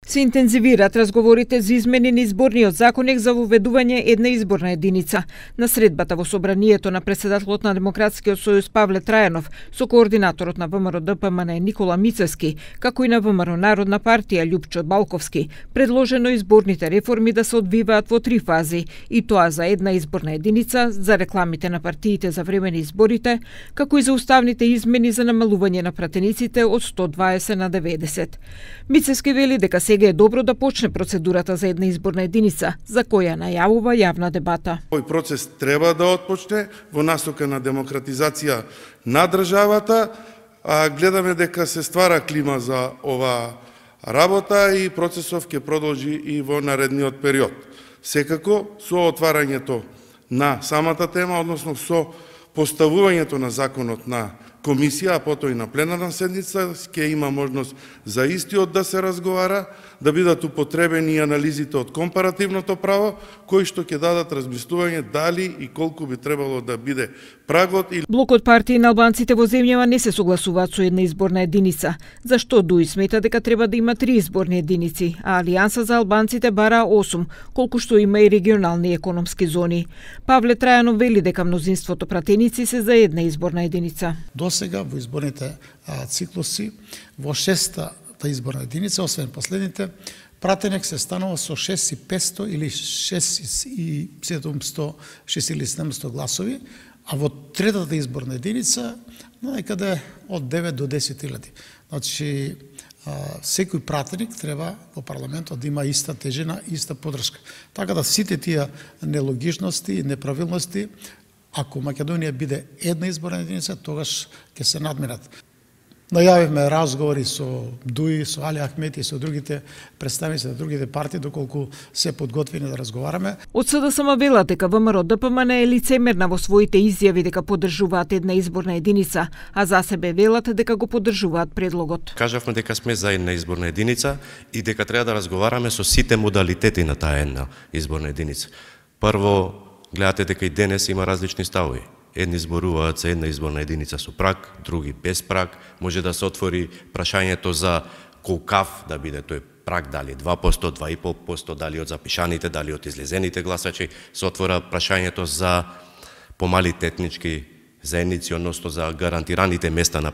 Се интензивираат разговорите за измени на изборниот законник за воведување една изборна единица. На средбата во собранието на председателот на Демократскиот сојуз Павле Трајанов со координаторот на ВМРО ДПМН Никола Мицевски, како и на ВМРО Народна партија Љупчо Балковски, предложено изборните реформи да се одвиваат во 3 фази, и тоа за една изборна единица, за рекламите на партиите за време на изборите, како и за уставните измени за намалување на пратениците од 120 на 90. Мицевски вели дека сега е добро да почне процедурата за една изборна единица, за која најавува јавна дебата. Овој процес треба да отпочне во насока на демократизација на државата, а гледаме дека се ствара клима за ова работа и процесов ќе продолжи и во наредниот период. Секако, со отварањето на самата тема, односно со поставувањето на законот на комисија, а потоа и на пленарна седница, ќе има можност за истиот да се разговара, да бидат употребени и анализите од компаративното право, кои што ќе дадат размислување дали и колку би требало да биде прагот. Блокот партии на албанците во земјава не се согласуваат со една изборна единица, зашто ДУИ смета дека треба да има 3 изборни единици, а Алијанса за албанците бара 8, колку што има и регионални економски зони. Павле Трајанов вели дека мнозинството пратеници се за една изборна единица. Досега во изборните циклуси во 6-та изборна единица, освен последните, пратеник се станува со 6500 или 6700 гласови, а во 3-та изборна единица некаде од 9 до 10.000. Значи, секој пратеник треба во парламентот да има иста тежина, иста поддршка. Така да сите тие нелогичности и неправилности, ако Македонија биде една изборна единица, тогаш ќе се надминат. Најавивме разговори со ДУИ, со Али Ахмети и со другите представници на другите партии, доколку се подготвени да разговараме. Од СДСМ велат дека ВМРО ДПМН е лицемерна во своите изјави дека поддржуваат една изборна единица, а за себе велат дека го поддржуваат предлогот. Кажавме дека сме за една изборна единица и дека треба да разговараме со сите модалитети на таа една изборна единица. Прво, гледате дека и денес има различни ставови. Едни зборуваат за една изборна единица со праг, други без праг. Може да се отвори прашањето за колкав да биде тој праг, дали 2%, 2,5%, дали од запишаните, дали од излезените гласачи. Се отвора прашањето за помалите етнички заедници, односно за гарантираните места на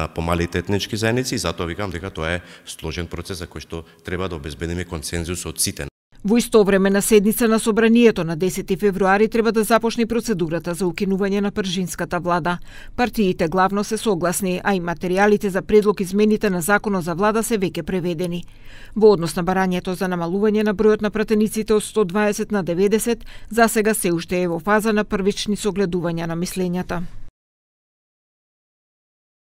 помалите етнички заедници. Затоа викам дека тоа е сложен процес за кој што треба да обезбедиме консензус од сите. Во исто време на седница на собранието на 10 февруари треба да започне процедурата за укинување на пржинската влада. Партиите главно се согласни, а и материјалите за предлог измените на законот за влада се веќе преведени. Во однос на барањето за намалување на бројот на пратениците од 120 на 90, засега се уште е во фаза на првични согледувања на мислењата.